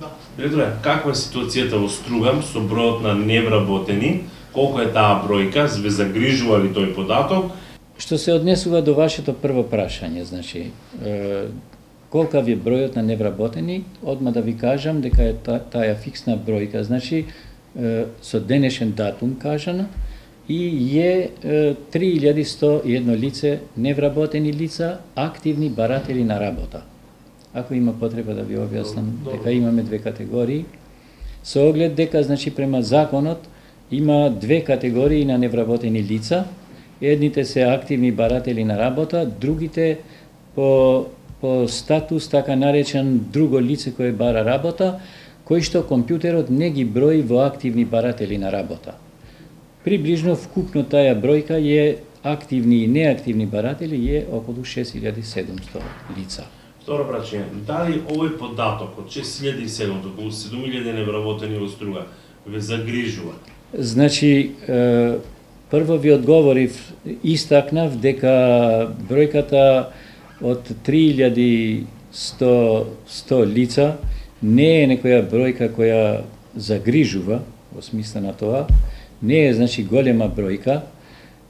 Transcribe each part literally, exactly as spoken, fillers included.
Да. Директоре, каква е ситуацијата во Струга со бројот на невработени? Колку е таа бројка? Ве загрижува ли тој податок? Што се однесува до вашето прво прашање, значи, е, колкав е бројот на невработени, одма да ви кажам дека е та, таа фиксна бројка, значи, е, со денешен датум кажано, и е, е три илјади сто и едно лице невработени лица, активни баратели на работа. Ако има потреба да ви објаснам дека имаме две категории, со оглед дека, значи, према законот има две категории на невработени лица. Едните се активни баратели на работа, другите по, по статус, така наречен друго лице кое бара работа, кој што компјутерот не ги брои во активни баратели на работа. Приближно вкупно таа бројка е активни и неактивни баратели е околу шест илјади и седумсто лица. Второ прашање, дали овој податок од шест илјади и седумсто, околу седум илјади невработени во Струга, ве загрижува? Значи, е, прво ви одговорив, истакнав дека бројката од три илјади и сто лица не е некоја бројка која загрижува, во смисла на тоа, не е, значи, голема бројка,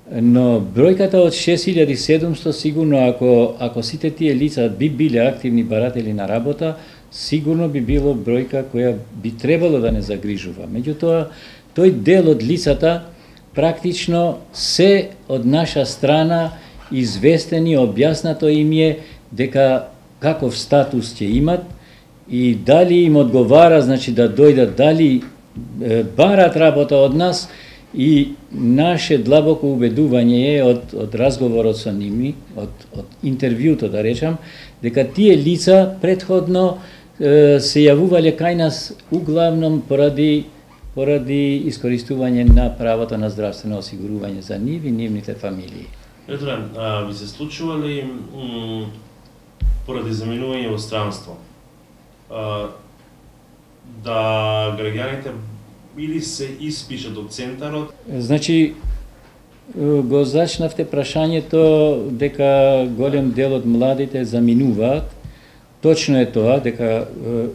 но бројката од шест илјади и седумсто сигурно, ако, ако сите тие лица би биле активни баратели на работа, сигурно би било бројка која би требало да не загрижува. Меѓутоа, тој дел од лицата практично се од наша страна известени, објаснато им е дека каков статус ќе имат и дали им одговара, значи, да дојдат, дали е, барат работа од нас, и наше длабоко убедување е од, од разговорот со ними, од, од интервјуто да речам, дека тие лица предходно е, се јавувале кај нас углавном поради поради искористување на правото на здравствено осигурување за нив и нивните фамилии. Директоре, ви се случува ли поради заминување во странство а, да граѓаните или се испишат од центарот? Значи, го зачнавте прашањето дека голем дел од младите заминуваат. Точно е тоа, дека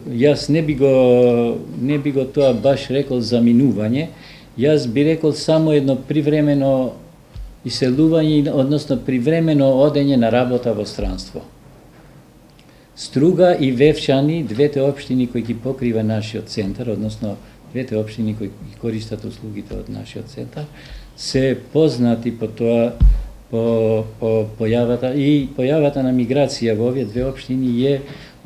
јас не би го не би го тоа баш рекол заминување, јас би рекол само едно привремено иселување, односно привремено одење на работа во странство. Струга и Вевчани, двете општини кои ги покрива нашиот центар, односно двете општини кои користат услугите од нашиот центар, се познати по тоа, по, по појавата и појавата на миграција во овие две општини е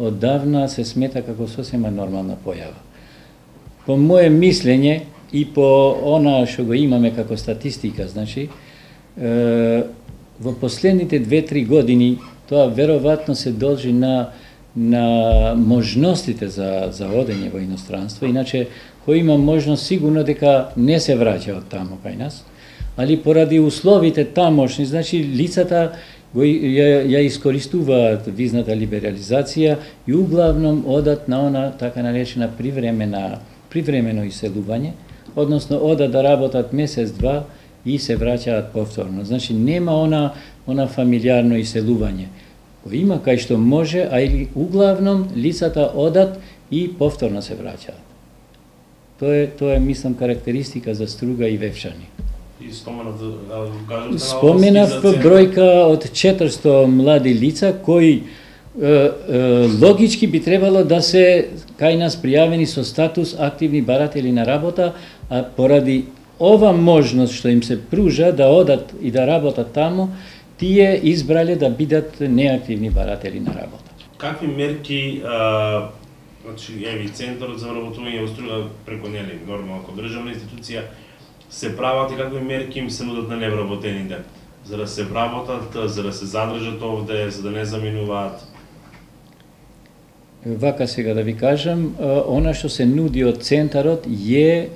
оддавна се смета како сосема нормална појава. По моје мислење и по она што го имаме како статистика, значи, е, во последните две-три години тоа веројатно се должи на на можностите за за одење во иностранство, иначе кој има можност сигурно дека не се враќа од таму кај нас, али поради условите тамошни, значи лицата го ја, ја искористуваат визната либерализација и углавном одат на она така наречена привремена привремено иселување, односно одат да работат месец-два и се враќаат повторно. Значи нема она она фамилиарно иселување. Кој има кај што може, а или углавном лицата одат и повторно се враќаат. Тоа е, тоа е, мислам, карактеристика за Струга и Вевчани. И споменав, да кажете, споменав бројка од четиристо млади лица кои е, е, логички би требало да се кај нас пријавени со статус активни баратели на работа, а поради ова можност што им се пружа да одат и да работат таму, тие избрале да бидат неактивни баратели на работа. Какви мерки, а, значи, еви, Центарот за вработување во Струга преку нели, нормално, како државна институција, се прават и какви мерки им се нудат на невработените, за да се вработат, за да се задржат овде, за да не заминуваат? Вака сега да ви кажам, она што се нуди од Центарот е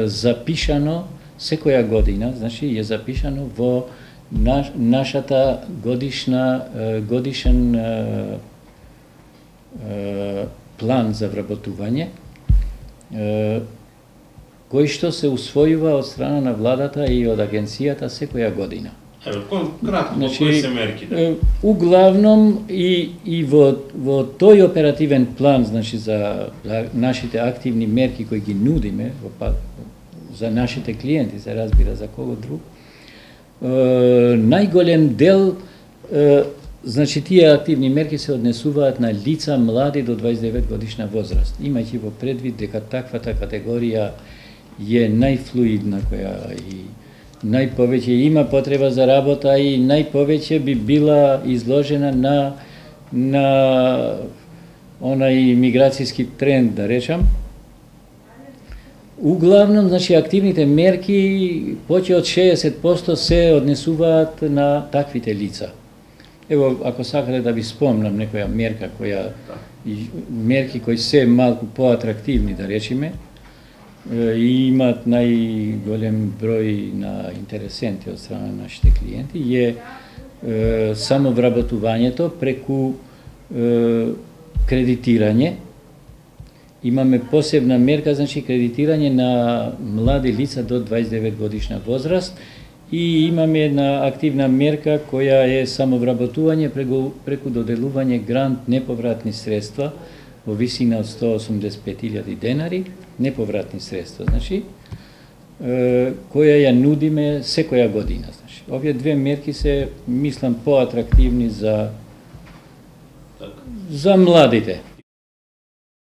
запишано секоја година, значи е запишано во наш, нашата годишна годишен план за вработување, кој што се усвојува од страна на владата и од агенцијата секоја година. Еве, кратко, Значи, кои се мерките? е, Углавном и, и во, во тој оперативен план, значи за, за нашите активни мерки кои ги нудиме во, па, за нашите клиенти, се разбира за кого друг, е, најголем дел, е, значи тие активни мерки се однесуваат на лица млади до дваесет и девет годишна возраст, имајќи во предвид дека таквата категорија е најфлуидна, која и најповеќе има потреба за работа и најповеќе би била изложена на на онај миграцијски тренд, да речам. Углавном, значи, активните мерки повеќе од шеесет проценти се однесуваат на таквите лица. Ево, ако сакате да ви спомнам некоја мерка која мерки кои се малку поатрактивни, да речеме, и имаат најголем број на интересенти од страна на нашите клиенти, е, е само вработувањето преку е, кредитирање. Имаме посебна мерка, значи кредитирање на млади лица до дваесет и девет годишна возраст и имаме една активна мерка која е само вработување преку, преку доделување грант неповратни средства во висина од сто осумдесет и пет илјади денари, неповратни средства, значи, е, која ја нудиме секоја година. Значи. Овие две мерки се, мислам, поатрактивни за, за младите.